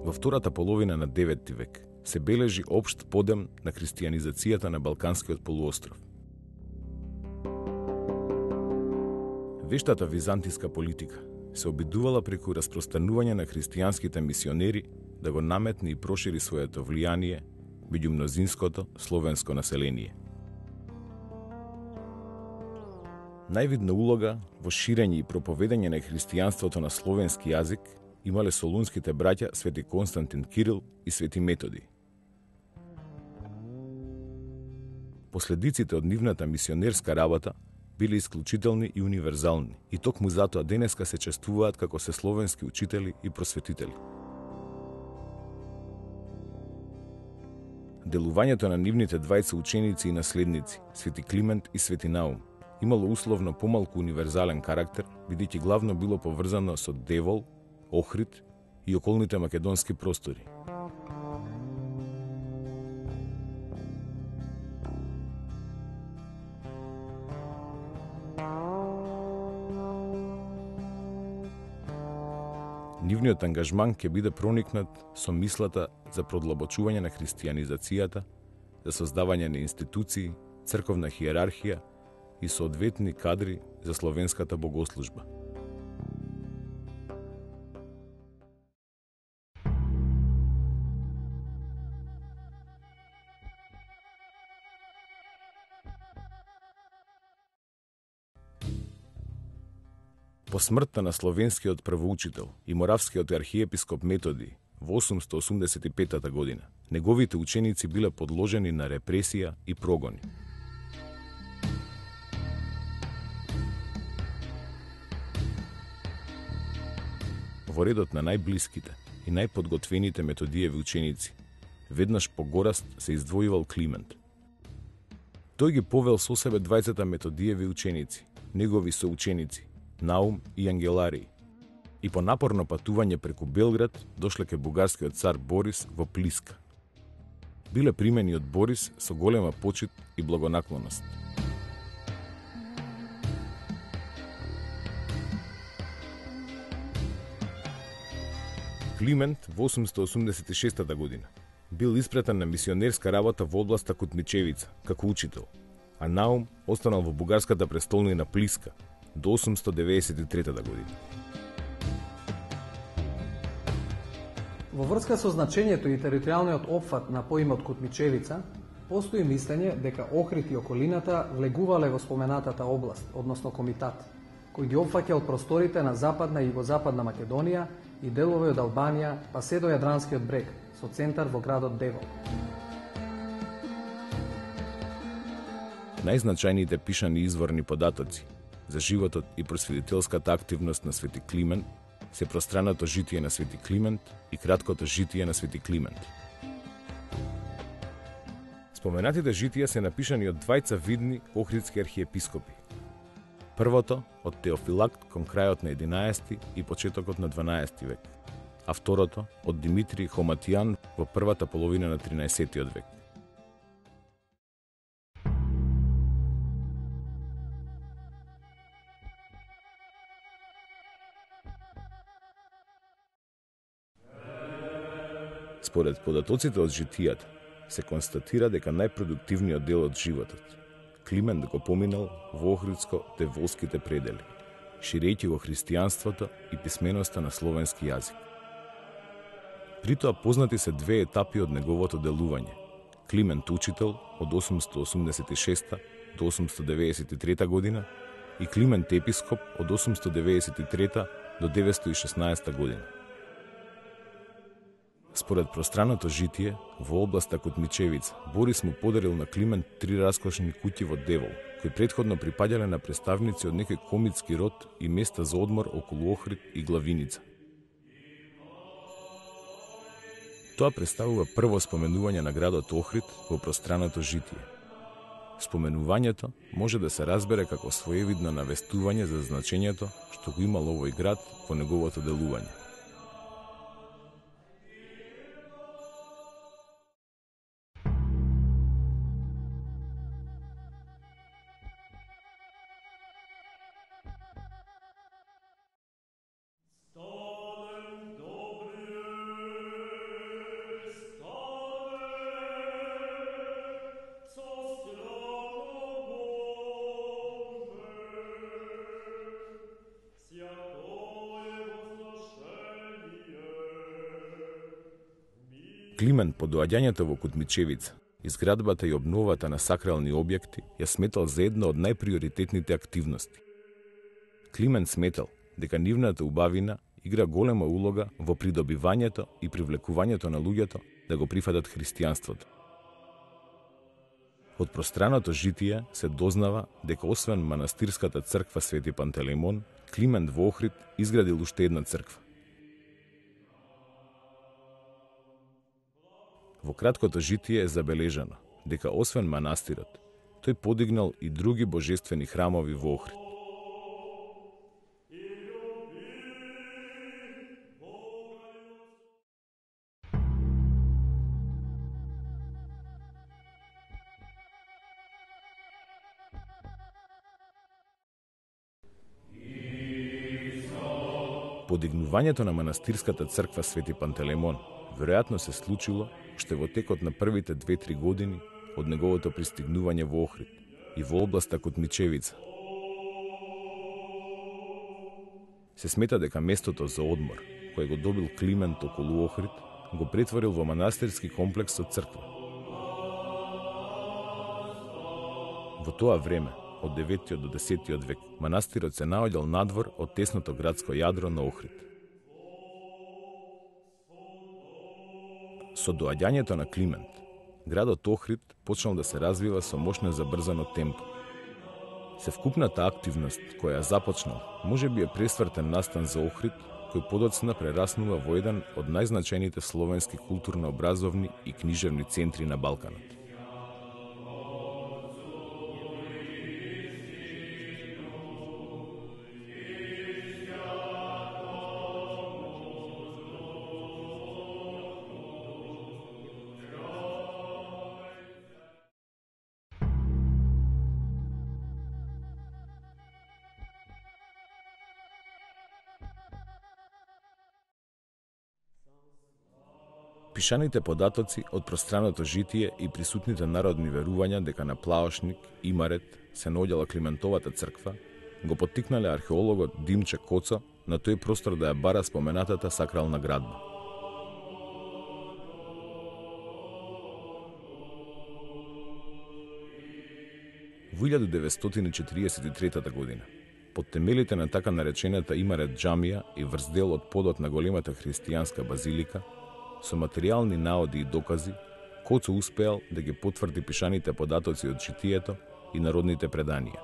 Во втората половина на 9 век се бележи општ подем на христијанизацијата на Балканскиот полуостров. Вештата византиска политика се обидувала преку распространување на христијанските мисионери да го наметне и прошири своето влијание меѓу мнозинското словенско население. Највидна улога во ширење и проповедање на христијанството на словенски јазик имале солунските браќа Свети Константин Кирил и Свети Методи. Последиците од нивната мисионерска работа биле исклучителни и универзални, и токму затоа денеска се чествуваат како се словенски учители и просветители. Делувањето на нивните двајца ученици и наследници, Свети Климент и Свети Наум, имало условно помалку универзален карактер, бидејќи главно било поврзано со Девол, Охрид и околните македонски простори. Нивниот ангажман ќе биде проникнат со мислата за продлабочување на христијанизацијата, за создавање на институции, црковна хиерархија и соодветни кадри за словенската богослужба. По смртта на словенскиот првоучител и моравскиот архиепископ Методи во 885 година, неговите ученици биле подложени на репресија и прогони. Во редот на најблиските и најподготвените Методиеви ученици, веднаш по гораст се издвојувал Климент. Тој ги повел со себе двајцата Методиеви ученици, негови соученици, Наум и Ангеларий, и по напорно патување преку Белград дошле ке бугарскиот цар Борис во Плиска. Биле примени од Борис со голема почит и благонаклоност. Климент во 886 година бил испратен на мисионерска работа во областа Кутмичевица како учител, а Наум останал во бугарската престолнина Плиска до 893 година. Во врска со значењето и територијалниот опфат на поимот Кутмичевица, постои мислење дека Охрид и околината влегувале во споменатата област, односно комитат, кој ги опфаќа од просторите на западна и југозападна Македонија и делови од Албанија, па се до Јадранскиот брег, со центар во градот Девол. Најзначајните пишани изворни податоци за животот и просветителската активност на Свети Климент се пространото житие на Свети Климент и краткото житие на Свети Климент. Споменатите житија се напишани од двајца видни охридски архиепископи. Првото од Теофилакт кон крајот на 11 и почетокот на 12 век, а второто од Димитрий Хоматијан во првата половина на 13 век. Според податоците од житијата, се констатира дека најпродуктивниот дел од животот Климент го поминал во охридско-деволските предели, ширејќи го христијанството и писменоста на словенски јазик. Притоа познати се две етапи од неговото делување. Климент учител од 886 до 893 година и Климент епископ од 893 до 916 година. Според пространото житие, во областа Кутмичевица, Борис му подарил на Климент 3 раскошни куќи во Девол, кои претходно припаѓале на представници од некој комитски род и места за одмор околу Охрид и Главиница. Тоа представува прво споменување на градот Охрид во пространото житие. Споменувањето може да се разбере како своевидно навестување за значењето што го имал овој град во неговото делување. Климент по доаѓањето во Кутмичевица, изградбата и обновата на сакрални објекти ја сметал за една од најприоритетните активности. Климент сметал дека нивната убавина игра голема улога во придобивањето и привлекувањето на луѓето да го прифатат христијанството. Од пространото житие се дознава дека освен манастирската црква Свети Пантелеймон, Климент во Охрид изградил уште една црква. Во краткото житие е забележано дека освен манастирот, тој подигнал и други божествени храмови во Охрид. Подигнувањето на манастирската црква Свети Пантелеймон веројатно се случило уште во текот на првите 2-3 години од неговото пристигнување во Охрид и во областа Кутмичевица. Се смета дека местото за одмор, кој го добил Климент околу Охрид, го претворил во манастирски комплекс со црква. Во тоа време, од 9 до 10 век, манастирот се наоѓал надвор од тесното градско јадро на Охрид. Со доаѓањето на Климент, градот Охрид почнал да се развива со мощно забрзано темпо. Севкупната активност која започнал, може би е пресвртен настан за Охрид, кој подоцна прераснува во еден од најзначајните словенски културно-образовни и книжевни центри на Балканот. Пишаните податоци од пространото житие и присутните народни верувања дека на Плаошник, Имарет, се наоѓала Климентовата црква, го поттикнале археологот Димче Коцо на тој простор да ја бара споменатата сакрална градба. Во 1943 година, под темелите на така наречената Имарет џамија и врз дел од подот на големата христијанска базилика, со материјални наоди и докази, Коцо успеал да ги потврди пишаните податоци од житието и народните преданија.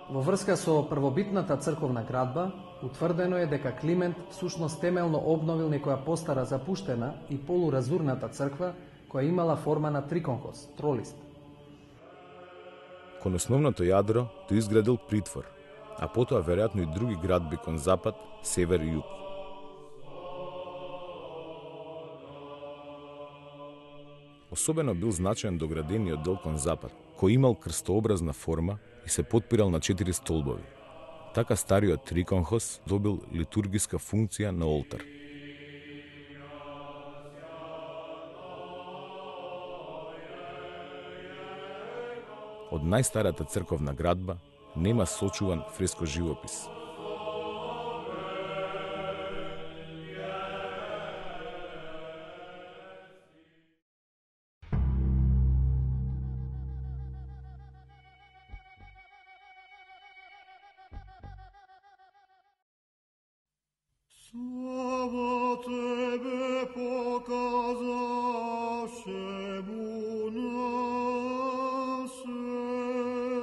Во врска со првобитната црковна градба, утврдено е дека Климент всушност темелно обновил некоја постара запуштена и полуразурната црква која имала форма на триконхос, тролист. Кон основното јадро тој изградил притвор, а потоа веројатно и други градби кон запад, север и југ. Особено бил значаен доградениот дел кон запад, кој имал крстообразна форма и се потпирал на 4 столбови. Така стариот триконхос добил литургиска функција на олтар. Од најстарата црковна градба нема сочуван фреско живопис. Слава тебе показавшему на свет.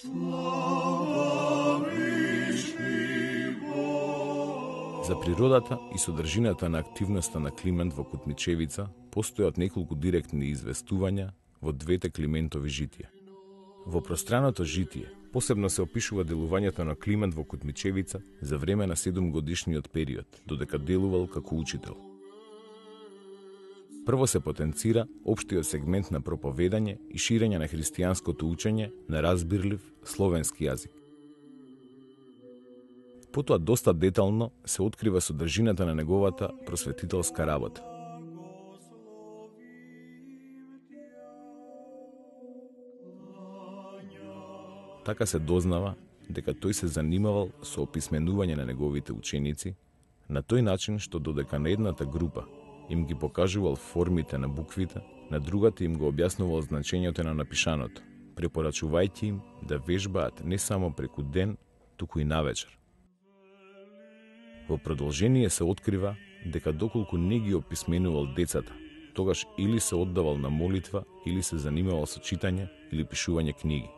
Слава вишни Бог. За природата и содржината на активноста на Климент во Кутмичевица постојат неколку директни известувања во двете Климентови житија. Во пространото житие посебно се опишува делувањето на Климент во Кутмичевица за време на 7-годишниот период, додека делувал како учител. Прво се потенцира општиот сегмент на проповедање и ширење на христијанското учење на разбирлив словенски јазик. Потоа доста детално се открива содржината на неговата просветителска работа. Така се дознава дека тој се занимавал со описменување на неговите ученици, на тој начин што додека на едната група им ги покажувал формите на буквите, на другата им го објаснувал значењето на напишаното, препорачувајќи им да вежбаат не само преку ден, туку и навечер. Во продолжение се открива дека доколку не ги описменувал децата, тогаш или се оддавал на молитва, или се занимавал со читање или пишување книги.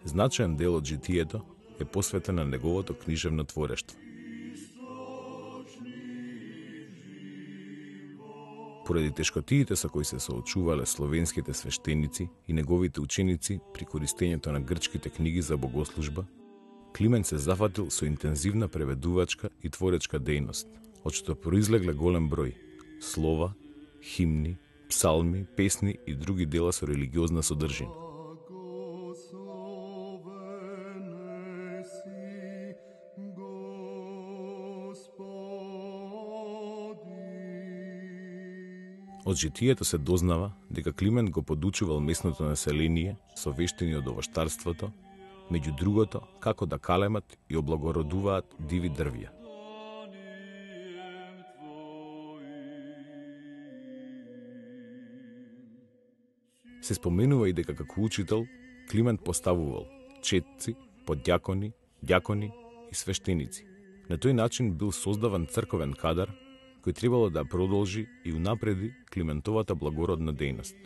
Значаен дел од житието е посветен на неговото книжевно творештво. Поради тешкотиите со кои се соочувале словенските свештеници и неговите ученици при користењето на грчките книги за богослужба, Климент се зафатил со интензивна преведувачка и творечка дејност, од што произлегле голем број слова, химни, псалми, песни и други дела со религиозна содржина. Од житието се дознава дека Климент го подучувал местното население со вештини од овоштарството, меѓу другото како да калемат и облагородуваат диви дрвја. Се споменува и дека како учител Климент поставувал четци, подјакони, ѓакони и свештеници. На тој начин бил создаван црковен кадар кој требало да продолжи и унапреди Климентовата благородна дејност.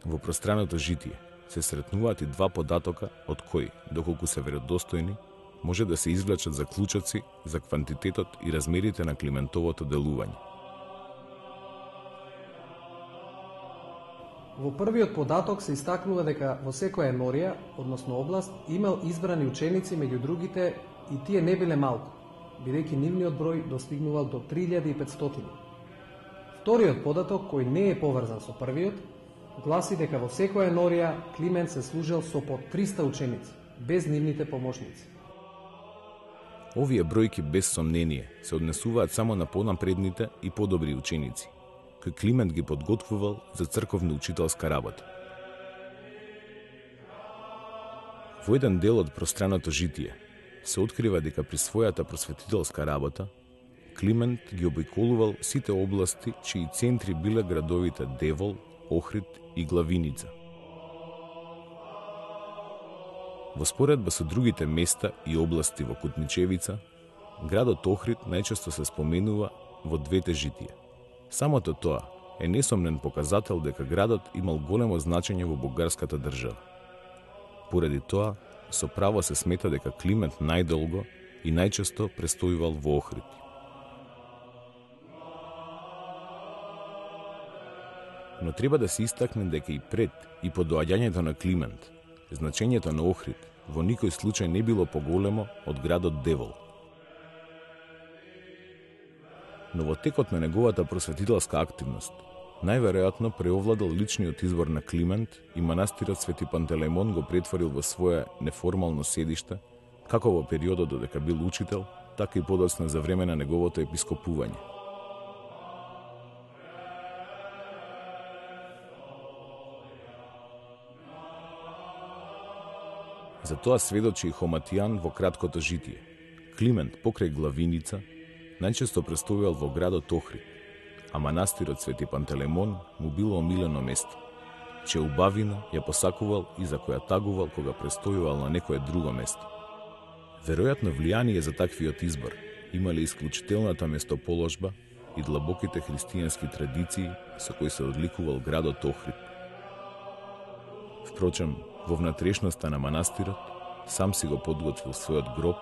Во пространото житие се сретнуваат и два податока од кои, доколку се веродостојни, може да се извлечат заклучоци за квантитетот и размерите на Климентовото делување. Во првиот податок се истакнува дека во секоја енорија, односно област, имал избрани ученици меѓу другите и тие не биле малку, бидејќи нивниот број достигнувал до 3500. Вториот податок, кој не е поврзан со првиот, гласи дека во секоја енорија Климент се служел со по 300 ученици, без нивните помошници. Овие бројки без сомнение се однесуваат само на понапредните и подобри ученици, кој Климент ги подготвувал за црковно-учителска работа. Во еден дел од пространото житие се открива дека при својата просветителска работа Климент ги обиколувал сите области чии центри биле градовите Девол, Охрид и Главиница. Во споредба со другите места и области во Кутничевица, градот Охрид најчесто се споменува во двете житија. Самото тоа е несомнен показател дека градот имал големо значење во бугарската држава. Поради тоа, со право се смета дека Климент најдолго и најчесто престојувал во Охрид. Но треба да се истакне дека и пред и по доаѓањето на Климент, значењето на Охрид во никој случај не било поголемо од градот Девол. Но во текот на неговата просветителска активност, најверојатно преовладал личниот избор на Климент и манастирот Свети Пантелеймон го претворил во свое неформално седиште, како во периодот додека бил учител, така и подоцна за време на неговото епископување. За тоа сведочи и Хоматијан во краткото житие. Климент покрај Главиница најчесто престојувал во градот Охрид, а манастирот Свети Пантелеймон му било омилено место. Чеубавина ја посакувал и за која тагувал кога престојувал на некое друго место. Веројатно влијание за таквиот избор имале исклучителната местоположба и длабоките христијански традиции со кои се одликувал градот Охрид. Впрочем, во внатрешноста на манастирот сам си го подготвил својот гроб,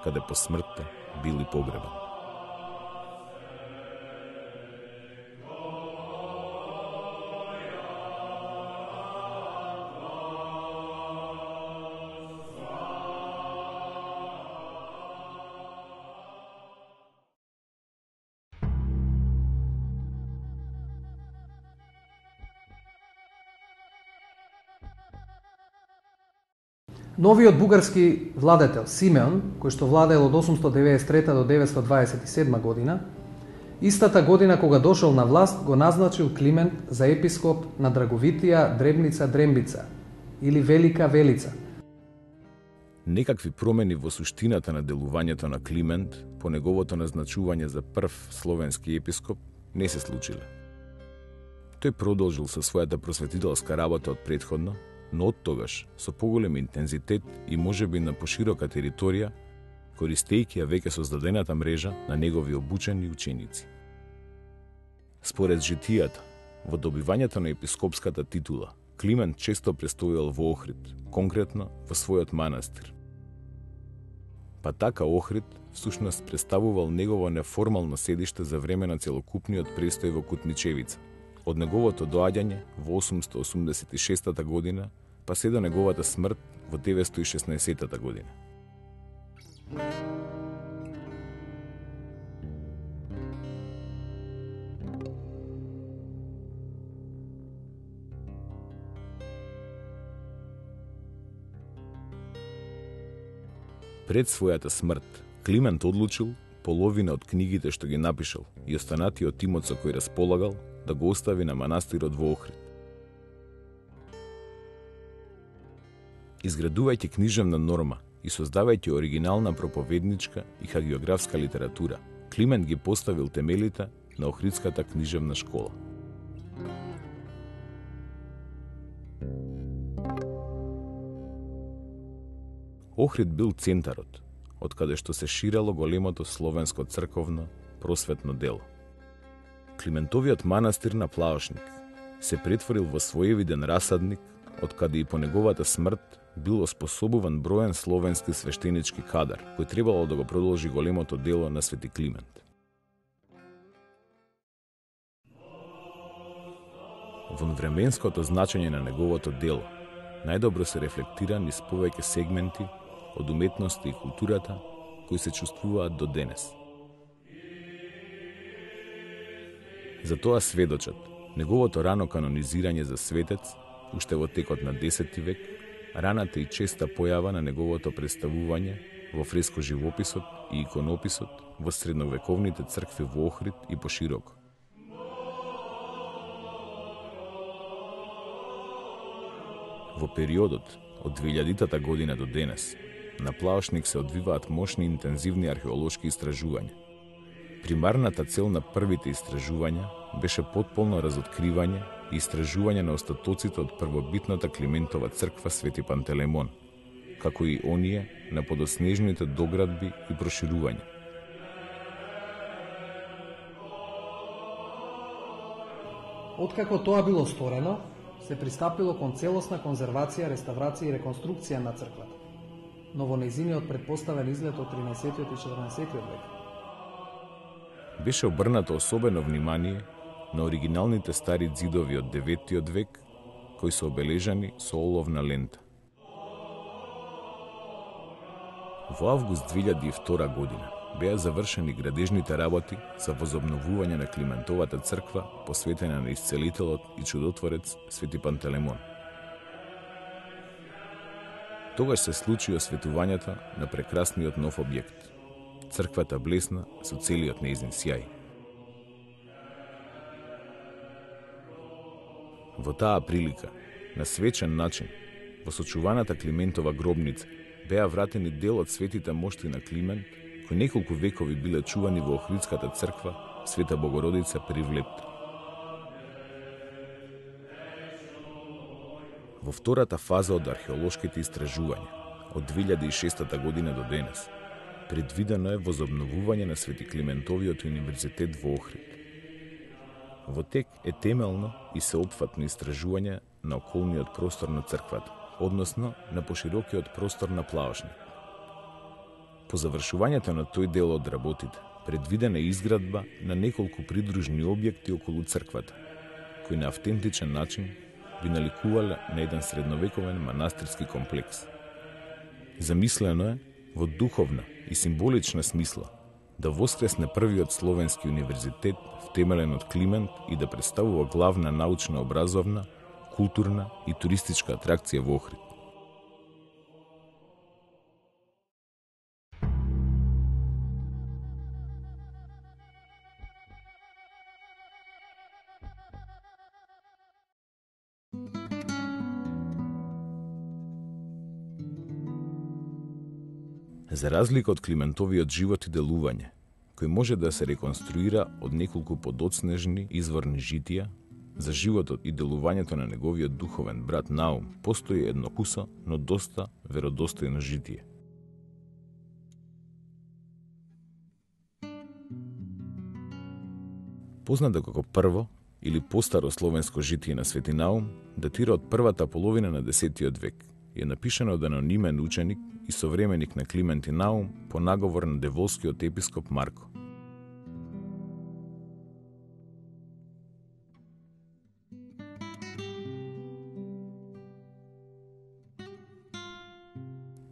каде по смртта бил и погребан. Новиот бугарски владетел Симеон, кој што владеел од 893 до 927 година, истата година кога дошол на власт, го назначил Климент за епископ на Драговитија Дребница или Велика Велица. Некакви промени во суштината на делувањето на Климент по неговото назначување за прв словенски епископ не се случиле. Тој продолжил со својата просветителска работа од претходно, но од тогаш со поголем интензитет и можеби на поширока територија, користејќи ја веќе создадената мрежа на негови обучени ученици. Според житијата, во добивањето на епископската титула, Климент често престојал во Охрид, конкретно во својот манастир. Па така Охрид всушност представувал негово неформално седиште за време на целокупниот престој во Кутмичевица, од неговото доаѓање во 886 година, па се до неговата смрт во 916 година. Пред својата смрт, Климент одлучил половина од книгите што ги напишал и останатиот тимот со кој располагал да го остави на манастирот во Охрид. Изградувајќи книжевна норма и создавајќи оригинална проповедничка и хагиографска литература, Климент ги поставил темелите на Охридската книжевна школа. Охрид бил центарот, од каде што се ширело големото словенско црковно просветно дело. Климентовиот манастир на Плаошник се претворил во своевиден расадник, од каде и по неговата смрт бил оспособуван броен словенски свештенички кадар, кој требало да го продолжи големото дело на Свети Климент. Вонвременското значење на неговото дело најдобро се рефлектира низ повеќе сегменти од уметноста и културата кои се чувствуваат до денес. За тоа сведочат неговото рано канонизирање за светец уште во текот на 10 век, раната и честа појава на неговото представување во фреско живописот и иконописот во средновековните цркви во Охрид и пошироко. Во периодот од 2000-та година до денес, на Плаошник се одвиваат мощни интензивни археолошки истражувања. Примарната цел на првите истражувања беше потполно разоткривање и истражување на остатоците од првобитната Климентова црква Свети Пантелеймон, како и оние на подоснежните доградби и проширувања. Откако тоа било сторено, се пристапило кон целосна конзервација, реставрација и реконструкција на црквата, но во нејзиниот предпоставен изглед од 13 и 14 век. Беше обрнато особено внимание на оригиналните стари ѕидови од 9 век, кои се обележани со оловна лента. Во август 2002 година беа завршени градежните работи за возобновување на Климентовата црква, посветена на исцелителот и чудотворец Свети Пантелеймон. Тогаш се случи осветувањето на прекрасниот нов објект. Црквата блесна со целиот нејзин сјај. Во таа прилика, на свечен начин, во сочуваната Климентова гробница, беа вратени дел од светите мошти на Климент, кои неколку векови биле чувани во Охридската црква Света Богородица при Влепта. Во втората фаза од археолошките истражувања, од 2006 година до денес, предвидено е возобновување на Свети Климентовиот универзитет во Охрид. Во тек е темелно и сеопфатно истражување на околниот простор на црквата, односно на поширокиот простор на Плаошник. По завршувањето на тој дел од работите, предвидена е изградба на неколку придружни објекти околу црквата, кои на автентичен начин би наликувале на еден средновековен манастирски комплекс. Замислено е во духовна и символична смисла да воскресне првиот словенски универзитет втемелен од Климент и да представува главна научна, образовна, културна и туристичка атракција во Охрид. За разлика од Климентовиот живот и делување, кој може да се реконструира од неколку подоцнежни изворни житија, за животот и делувањето на неговиот духовен брат Наум постои едно кусо, но доста веродостојно житие. Познато како прво или постаро словенско житие на Свети Наум, датира од првата половина на 10 век и е напишано од анонимен ученик и современик на Климент и Наум по наговор на деволскиот епископ Марко.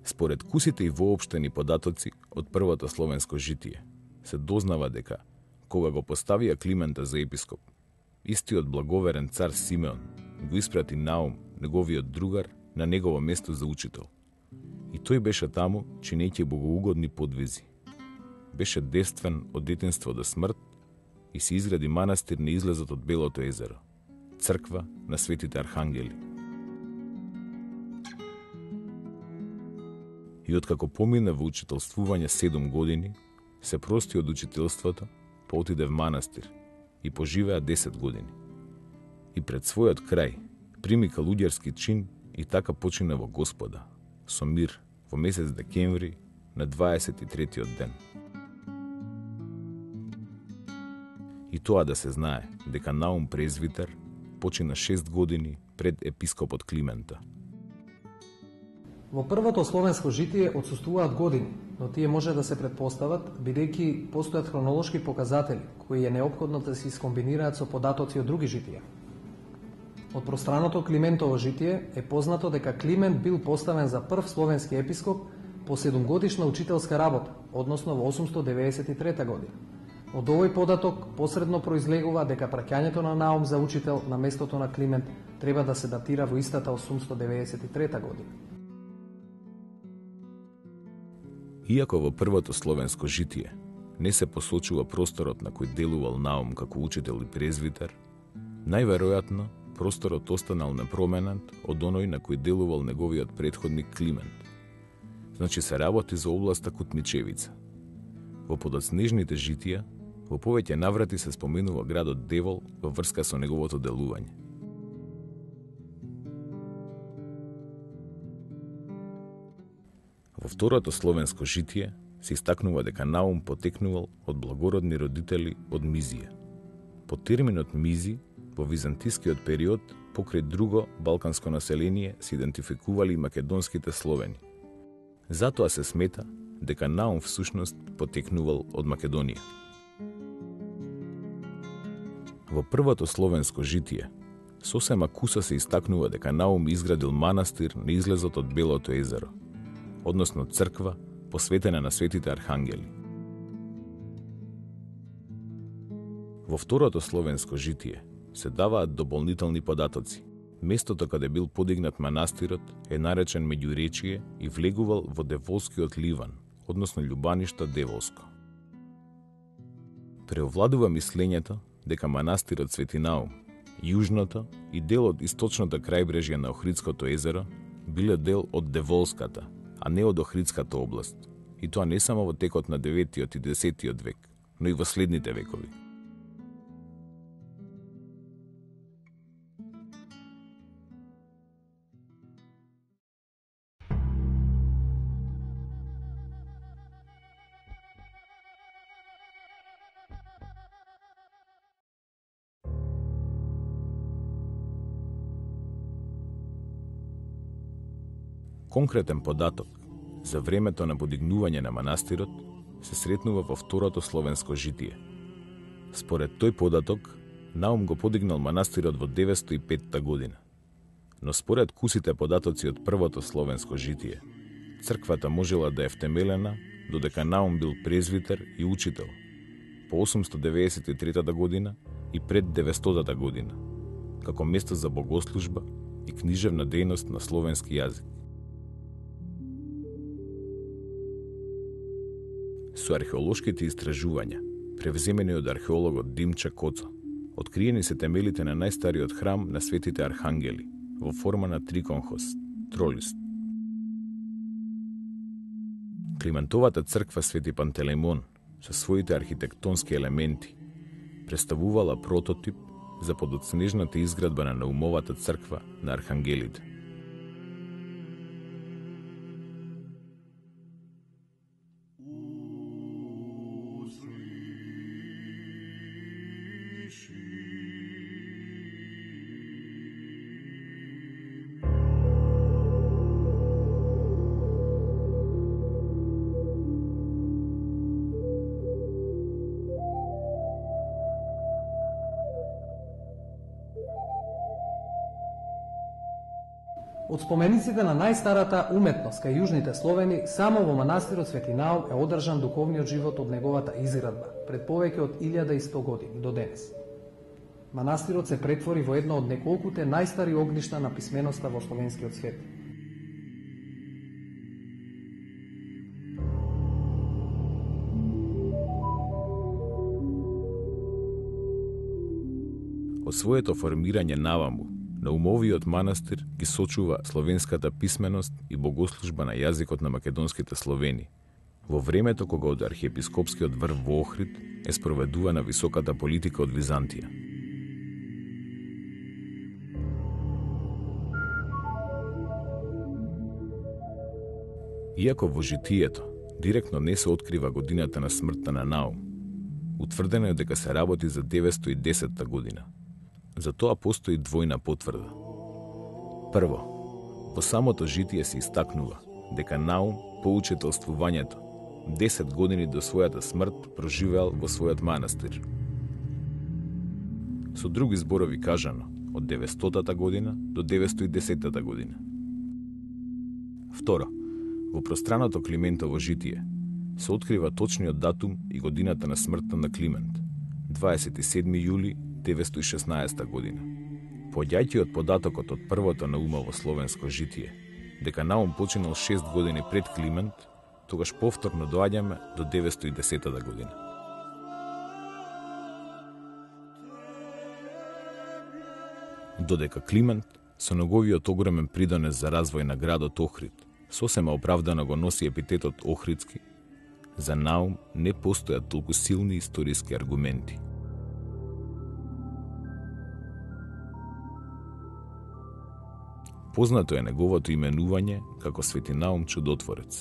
Според кусите и воопштени податоци од првото словенско житие, се дознава дека, кога го поставија Климента за епископ, истиот благоверен цар Симеон го испрати Наум, неговиот другар, на негово место за учител. И тој беше таму, чинејќи богоугодни подвизи. Беше девствен од детинство до смрт и се изгради манастир на излезот од Белото езеро, црква на светите архангели. И откако помина во учителствување 7 години, се прости од учителството, поотиде в манастир и поживеа 10 години. И пред својот крај прими калуѓерски чин и така почина во Господа, со мир, во месец декември на 23-тиот ден. И тоа да се знае, дека Наум презвитер почина 6 години пред епископот Климента. Во првото словенско житие отсуствуваат години, но тие може да се предпостават, бидејќи постојат хронолошки показатели, кои е неопходно да се искомбинираат со податоци од други житија. Од пространото Климентово житие е познато дека Климент бил поставен за прв словенски епископ по 7-годишна учителска работа, односно во 893 година. Од овој податок посредно произлегува дека праќањето на Наум за учител на местото на Климент треба да се датира во истата 893 година. Иако во првото словенско житие не се посочува просторот на кој делувал Наум како учител и презвитер, најверојатно просторот останал непроменет од оној на кој делувал неговиот претходник Климент. Значи се работи за областа Кутмичевица. Во подоцнежните житија, во повеќе наврати се споменува градот Девол во врска со неговото делување. Во второто словенско житие се истакнува дека Наум потекнувал од благородни родители од Мизија. По терминот Мизи, во византискиот период, покрај друго балканско население се идентификували македонските словени. Затоа се смета дека Наум всушност потекнувал од Македонија. Во првото словенско житие, сосема куса се истакнува дека Наум изградил манастир на излезот од Белото езеро, односно црква посветена на светите архангели. Во второто словенско житие се даваат дополнителни податоци. Местото каде бил подигнат манастирот е наречен Меѓуречие и влегувал во Деволскиот ливан, односно љубаништо Деволско. Преовладува мислењето дека манастирот Свети Наум, јужното и дел од источното крајбрежје на Охридското езеро биле дел од Деволската, а не од Охридската област, и тоа не само во текот на 9 и 10 век, но и во следните векови. Конкретен податок за времето на подигнување на манастирот се сретнува во второто словенско житие. Според тој податок, Наум го подигнал манастирот во 905 година. Но според кусите податоци од првото словенско житие, црквата можела да е втемелена додека Наум бил презвитер и учител по 893 година и пред 900 година, како место за богослужба и книжевна дејност на словенски јазик. Со археолошките истражувања, превземени од археологот Димча Коцо, откриени се темелите на најстариот храм на светите архангели во форма на триконхост, тролист. Климентовата црква Свети Пантелеймон со своите архитектонски елементи представувала прототип за подоцнежната изградба на Наумовата црква на Архангелите. Од спомениците на најстарата уметност кај јужните Словени, само во манастирот Свети Наум е одржан духовниот живот од неговата изградба, пред повеќе од 1100 години до денес. Манастирот се претвори во едно од неколкуте најстари огништа на писменоста во словенскиот свет. Од своето формирање наваму, Наумовиот манастир ги сочува словенската писменост и богослужба на јазикот на македонските Словени, во времето кога од архиепископскиот врв во Охрид е спроведувана високата политика од Византија. Иако во житието директно не се открива годината на смртта на Наум, утврдено е дека се работи за 910 година. За тоа постои двојна потврда. Прво, во самото житие се истакнува дека Наум по учетелствувањето 10 години до својата смрт проживеал во својот манастир. Со други зборови кажано, од 900-та година до 910-та година. Второ, во пространото Климентово житие се открива точниот датум и годината на смртта на Климент, 27 јули 916 година. Поаѓајќи од податокот од првото Наумово словенско житие, дека Наум починал 6 години пред Климент, тогаш повторно доаѓаме до 910 година. Додека Климент, со неговиот огромен придонес за развој на градот Охрид, сосема оправдано го носи епитетот Охридски, за Наум не постојат толку силни историски аргументи. Познато е неговото именување како Свети Наум Чудотворец.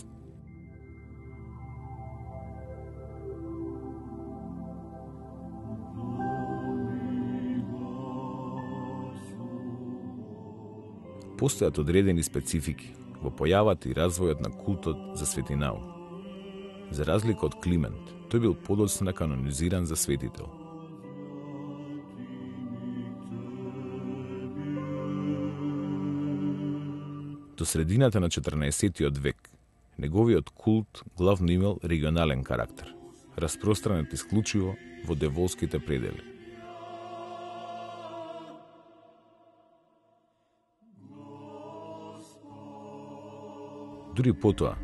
Постојат одредени специфики во појавата и развојот на култот за Свети Наум. За разлика од Климент, тој бил подоцна канонизиран за светител. До средината на 14-тиот век, неговиот култ главно имал регионален карактер, распространет исклучиво во деволските предели. Дури потоа,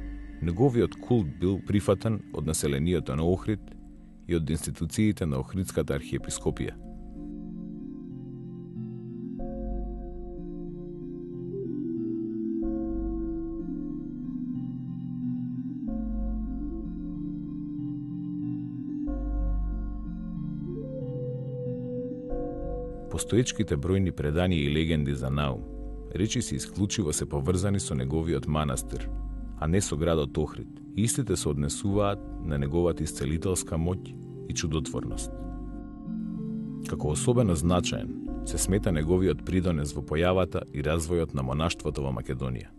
неговиот култ бил прифатен од населението на Охрид и од институциите на Охридската архиепископија. Постоечките бројни преданија и легенди за Наум, речиси исклучиво се поврзани со неговиот манастир, а не со градот Охрид. Истите се однесуваат на неговата исцелителска моќ и чудотворност. Како особено значаен се смета неговиот придонес во појавата и развојот на монаштвото во Македонија.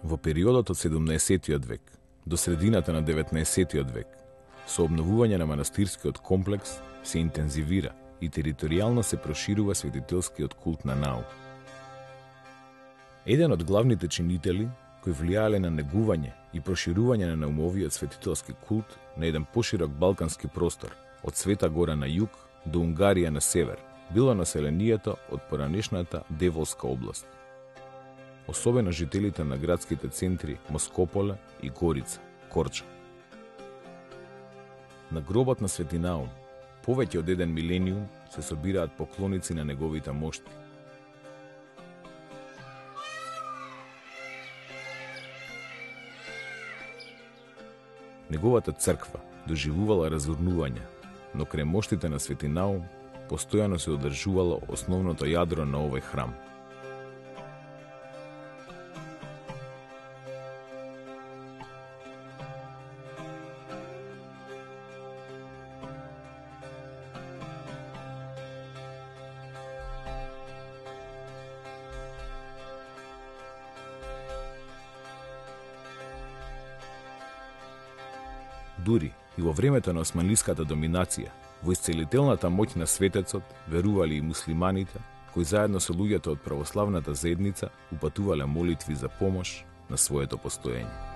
Во периодот од 17-тиот век до средината на 19-тиот век, со обновување на манастирскиот комплекс се интензивира и територијално се проширува светителскиот култ на Наум. Еден од главните чинители кои влијаеле на негување и проширување на Наумовиот светителски култ на еден поширок балкански простор, од Света Гора на југ до Унгарија на север, било населението од поранешната Деволска област. Особено жителите на градските центри Москополе и Горица, Корча. На гробот на Свети Наум, повеќе од еден милениум, се собираат поклоници на неговите мошти. Неговата црква доживувала разурнување, но крај моштите на Свети Наум постојано се одржувало основното јадро на овој храм. Дури и во времето на османлиската доминација, во исцелителната моќ на светецот верували и муслиманите, кои заедно со луѓето од православната заедница упатувале молитви за помош на своето постоење.